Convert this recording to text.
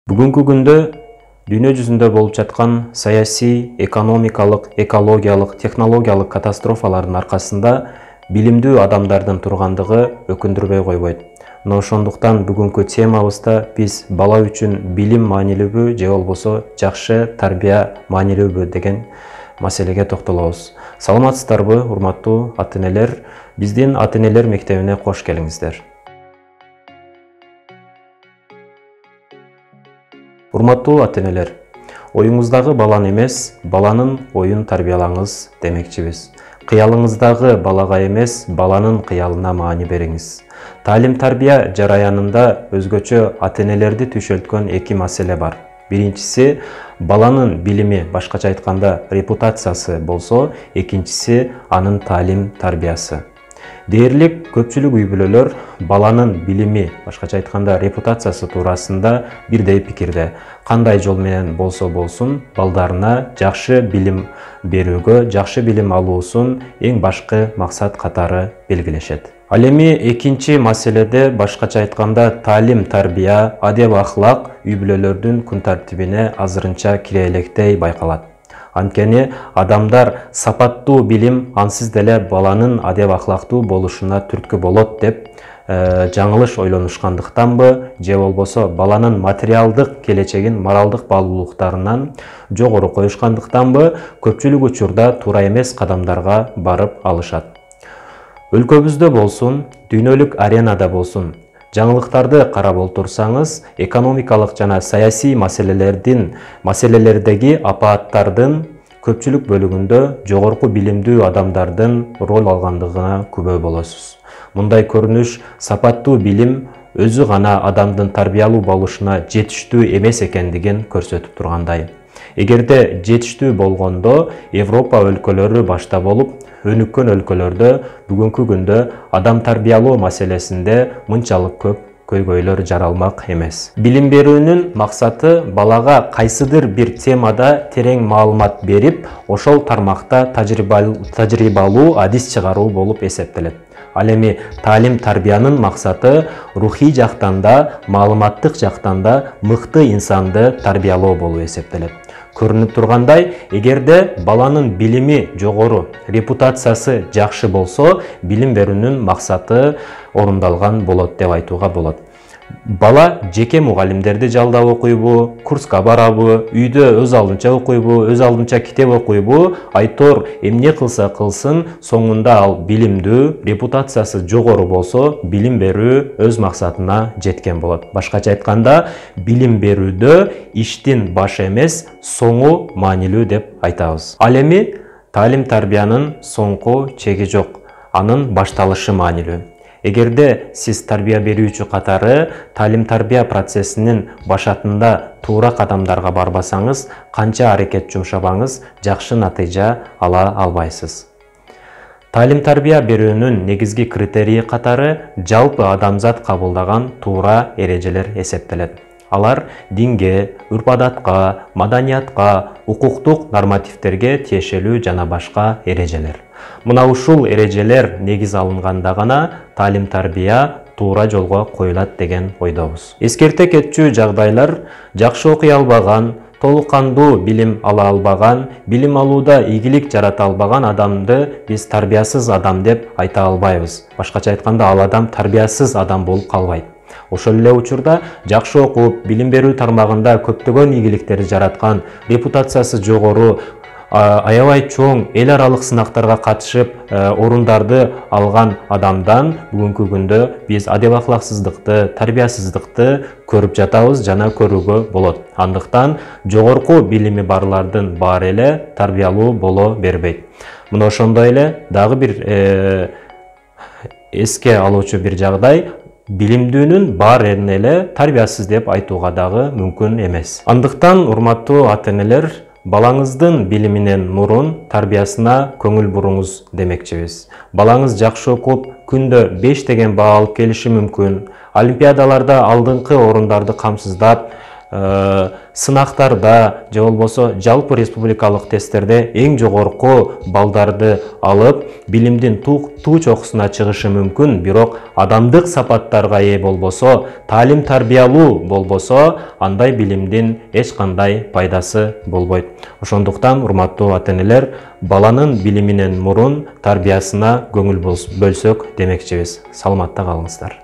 Бүгүнкү күндө дүйнө жүзүндө болуп жаткан саясий, экономикалык, экологиялык, технологиялык катастрофалардын аркасында билимдүү адамдардын тургандыгы өкүндүрбөй койбойт. Мына ошондуктан бүгүнкү темабызда биз бала үчүн билим маанилүүбү же болбосо жакшы тарбия маанилүүбү деген маселеге токтолобуз. Саламатсыздарбы, урматтуу ата-энелер? Биздин ата-энелер мектебине кош келиңиздер. Урматтуу ата-энелер, оюңуздагы баланы эмес, баланын оюн тарбиялаңыз демекчибиз. Кыялыңыздагы балага эмес, баланын кыялына маани бериңиз. Таалим-тарбия жараянында өзгөчө ата-энелерди түйшөлткөн эки маселе бар. Биринчиси баланын билими, башкача айтканда репутациясы болсо, экинчиси анын таалим-тарбиясы. Дээрлик көпчүлүк үй-бүлөлөр баланын билими, башкача айтканда репутациясы туурасында бирдей пикирде. Кандай жол менен болсо болсун, балдарына жакшы билим берүүгө, жакшы билим алуусун эң башкы максат катары белгилешет. Ал эми экинчи маселеде, башкача айтканда таалим-тарбия, адеп-ахлак үй-бүлөлөрдүн күн тартибине азырынча кире электей байкалат. Анткени адамдар сапаттуу билим ансыз деле баланын адеп-ахлактуу болушуна түрткү болот деп жаңылыш ойлонушкандыктанбы, же болбосо баланын материалдык келечегин моралдык баалуулуктарынан жогору коюшкандыктанбы, көпчүлүк учурда туура эмес кадамдарга барып алышат. Өлкөбүздө болсун, дүйнөлүк аренада болсун, жаңылыктарды карап олтурсаңыз, экономикалык жана саясий маселелердеги апааттардын көпчүлүк бөлүгүндө жогорку билимдүү адамдардын роль алгандыгына күбө болосуз. Мындай көрүнүш сапаттуу билим өзү гана адамдын тарбиялуу болушуна жетиштүү эмес экендигин көрсөтүп тургандай. Эгерде жетиштүү болгондо Европа өлкөлөрү башта болуп, өнүккөн өлкөлөрдө бүгүнкү күндө адам тарбиялоо маселесинде мынчалык көп көйгөйлөр жаралмак эмес. Билим берүүнүн максаты балага кайсыдыр бир темада терең маалымат берип, ошол тармакта тажрыйбалуу адис чыгаруу болуп эсептелет. Ал эми таалим-тарбиянын максаты рухий жактан да, маалыматтык жактан да мыкты инсанды тарбиялоо болуп эсептелет. Көрүнүп тургандай, эгерде баланын билими жогору, репутациясы жакшы болсо, билим берүүнүн максаты орундалган болот деп айтууга болот. Бала жеке мугалимдерди жалдап окуйбу, курска барабы, үйдө өз алдынча окуйбу, өз алдынча китеп окуйбу, айтор эмне кылса кылсын, соңунда ал билимдүү, репутациясы жогору болсо, билим берүү өз максатына жеткен болот. Башкача айтканда, билим берүүдө иштин башы эмес, соңу маанилүү деп айтабыз. Ал эми таалим-тарбиянын соңку чеги жок, анын башталышы маанилүү. Эгерде сиз тарбия берүүчү катары таалим-тарбия процессинин башатында туура кадамдарга барбасаңыз, канча аракет жумшабаңыз, жакшы натыйжа ала албайсыз. Таалим-тарбия берүүнүн негизги критерийи катары жалпы адамзат кабылдаган туура эрежелер эсептелет. Алар динге, үрп-адатка, маданиятка, укуктук нормативдерге тиешелүү жана башка эрежелер. Мына ушул эрежелер негиз алынганда гана таалим-тарбия туура жолго коюлат деген ойдобуз. Эскерте кетчү жагдайлар: жакшы окуй албаган, толук кандуу билим ала албаган, билим алууда ийгилик жарата албаган адамды биз тарбиясыз адам деп айта албайбыз. Башкача айтканда, ал адам тарбиясыз адам болуп калбайт. Ошол эле учурда жакшы окуп, билим берүү тармагында көптөгөн ийгиликтерди жараткан, репутациясы жогору, аябай чоң эл аралык сынактарга катышып, орундарды алган адамдан бүгүнкү күндө биз адеп-ахлаксыздыкты, тарбиясыздыкты көрүп жатабыз жана көрүүгө болот. Андыктан жогорку билими барлардын баары эле тарбиялуу боло бербейт. Мына ошондой эле дагы бир эске алуучу бир жагдай: билимдүүнүн баарын эле тарбиясыз деп айтууга дагы мүмкүн эмес. Андыктан, урматтуу ата-энелер, балаңыздын билиминен мурун тарбиясына көңүл буруңуз демекчибиз. Балаңыз жакшы окуп, күндө 5 деген баа алып келиши мүмкүн. Олимпиадаларда алдыңкы орундарды камсыздап, сынактарда же болбосо жалпы республикалык тесттерде эң жогорку балдарды алып, билимдин туу чокусуна чыгышы мүмкүн, бирок адамдык сапаттарга ээ болбосо, таалим тарбиялуу болбосо, андай билимдин эч кандай пайдасы болбойт. Ошондуктан, урматтуу ата-энелер, баланын билиминен мурун тарбиясына көңүл бөлсөк демекчибиз. Саламатта калыңыздар.